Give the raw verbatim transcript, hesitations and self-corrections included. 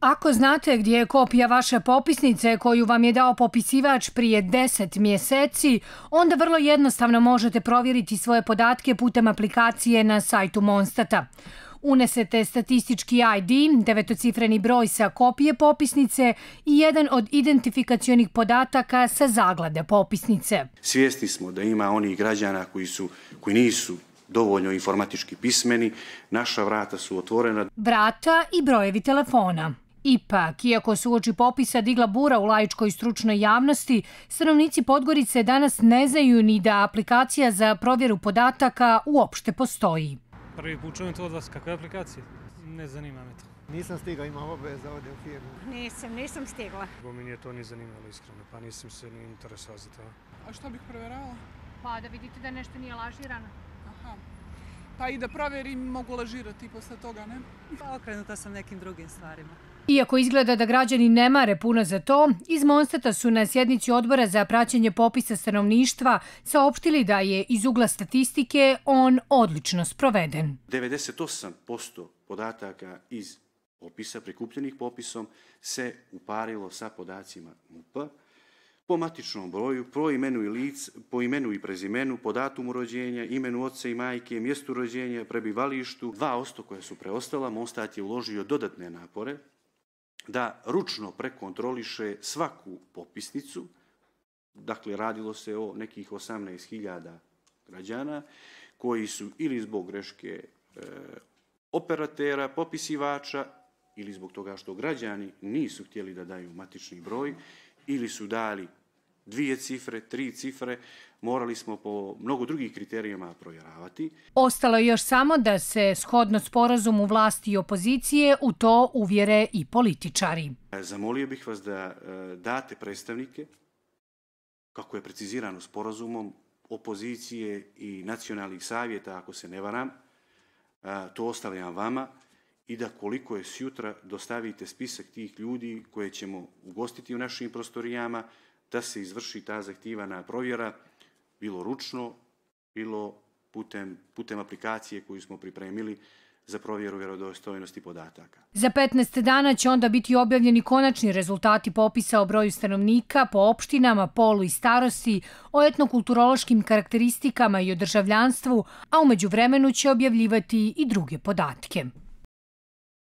Ako znate gdje je kopija vaše popisnice koju vam je dao popisivač prije deset mjeseci, onda vrlo jednostavno možete provjeriti svoje podatke putem aplikacije na sajtu Monstata. Unesete statistički I D, devetocifreni broj sa kopije popisnice i jedan od identifikacionih podataka sa zaglade popisnice. Svjesni smo da ima onih građana koji, su, koji nisu dovoljno informatički pismeni, naša vrata su otvorena. Vrata i brojevi telefona. Ipak, iako se uoči popisa digla bura u laičkoj stručnoj javnosti, stanovnici Podgorice danas ne znaju ni da aplikacija za provjeru podataka uopšte postoji. Prvi put čujem to od vas. Kakva je aplikacija? Ne zanima me to. Nisam stigao, imam obaveza ovdje u firmu. Nisam, nisam stigla. Bo mi nije to ni zanimalo iskreno, pa nisam se ni interesovao za to. A što bih provjeravala? Pa da vidite da nešto nije lažirano. Aha. Pa i da provjerim mogu lažirati posle toga, ne? Pa okrenuta sam nekim drugim stvarima. Iako izgleda da građani ne mare puno za to, iz Monstata su na sjednici odbora za praćenje popisa stanovništva saopštili da je iz ugla statistike on odlično sproveden. devedeset osam posto podataka iz popisa, prikupljenih popisom, se uparilo sa podacima M U P-a, po matičnom broju, po imenu i lic, po imenu i prezimenu, po datumu rođenja, imenu oca i majke, mjestu rođenja, prebivalištu. Dva posto koja su preostala, Monstat je uložio dodatne napore da ručno prekontroliše svaku popisnicu. Dakle, radilo se o nekih osamnaest hiljada građana koji su ili zbog greške e, operatera, popisivača, ili zbog toga što građani nisu htjeli da daju matični broj, ili su dali dvije cifre, tri cifre, morali smo po mnogo drugih kriterijama provjeravati. Ostalo je još samo da se shodno sporazumu vlasti i opozicije u to uvjere i političari. Zamolio bih vas da date predstavnike, kako je precizirano sporazumom, opozicije i nacionalnih savjeta, ako se ne varam, to ostavljam vama, i da koliko je sjutra dostavite spisak tih ljudi koje ćemo ugostiti u našim prostorijama, da se izvrši ta zahtijevana provjera, bilo ručno, bilo putem, putem aplikacije koju smo pripremili za provjeru vjerodostojnosti podataka. Za petnaest dana će onda biti objavljeni konačni rezultati popisa o broju stanovnika po opštinama, polu i starosti, o etnokulturološkim karakteristikama i o državljanstvu, a u međuvremenu će objavljivati i druge podatke.